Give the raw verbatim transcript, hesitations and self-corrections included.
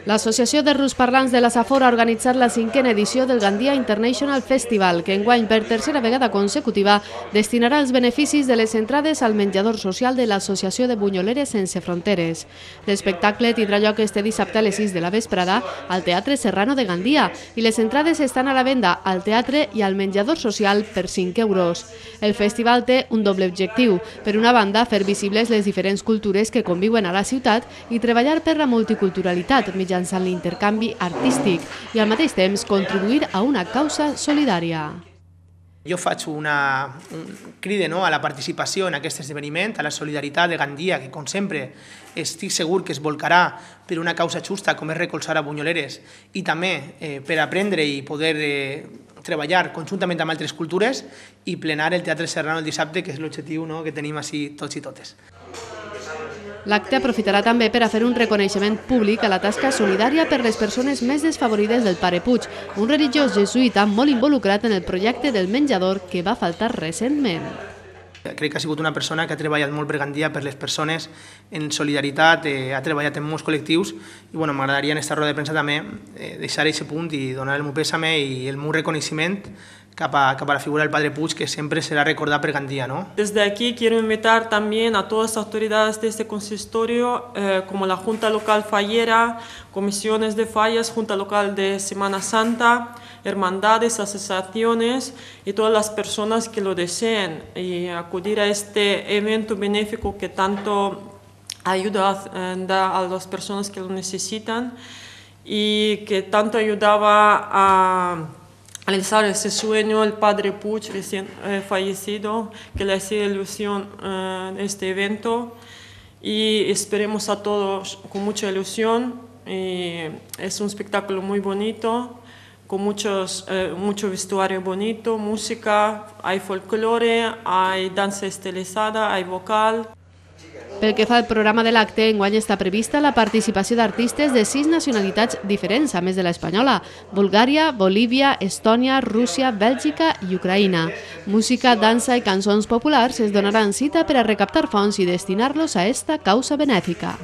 L'Associació de Rusparlants de la Safor ha organitzat la cinquena edició del Gandia International Festival, que enguany per tercera vegada consecutiva destinarà els beneficis de les entrades al menjador social de l'Associació de Bunyoleres Sense Fronteres. L'espectacle tindrà lloc este dissabte a les sis de la vesprada al Teatre Serrano de Gandia i les entrades estan a la venda al teatre i al menjador social per cinc euros. El festival té un doble objectiu. Per una banda, fer visibles les diferents cultures que conviuen a la ciutat i treballar per la multiculturalitat mitjançant l'intercanvi artístic i al mateix temps contribuir a una causa solidària. Jo faig una un crida no, a la participació en aquest esdeveniment, a la solidaritat de Gandia, que com sempre estic segur que es volcarà per una causa justa com és recolzar a Bunyoleres i també eh, per aprendre i poder eh, treballar conjuntament amb altres cultures i plenar el Teatre Serrano el dissabte, que és l'objectiu no, que tenim així tots i totes. L'acte aprofitarà també per a fer un reconeixement públic a la tasca solidària per les persones més desfavorides del Pare Puig, un religiós jesuïta molt involucrat en el projecte del menjador que va faltar recentment. Crec que ha sigut una persona que ha treballat molt per Gandia, per les persones, en solidaritat, eh, ha treballat en molts col·lectius i bueno, m'agradaria en aquesta roda de premsa també eh, deixar aquest punt i donar el meu pèsame i el meu reconeixement cap a, cap a la figura del Padre Puig, que siempre será recordada por Gandia, ¿no? Desde aquí quiero invitar también a todas las autoridades de este consistorio, eh, como la Junta Local Fallera, comisiones de fallas, Junta Local de Semana Santa, hermandades, asociaciones y todas las personas que lo deseen y acudir a este evento benéfico que tanto ayuda eh, da a las personas que lo necesitan y que tanto ayudaba a realizar ese sueño el Padre Puig recién eh, fallecido, que le hacía ilusión eh, este evento y esperemos a todos con mucha ilusión. Y es un espectáculo muy bonito, con muchos, eh, mucho vestuario bonito, música, hay folclore, hay danza estilizada, hay vocal. Pel que fa al programa de l'acte, enguany està prevista la participació d'artistes de sis nacionalitats diferents, a més de l'espanyola: Bulgària, Bolívia, Estònia, Rússia, Bèlgica i Ucraïna. Música, dansa i cançons populars es donaran cita per a recaptar fons i destinar-los a esta causa benèfica.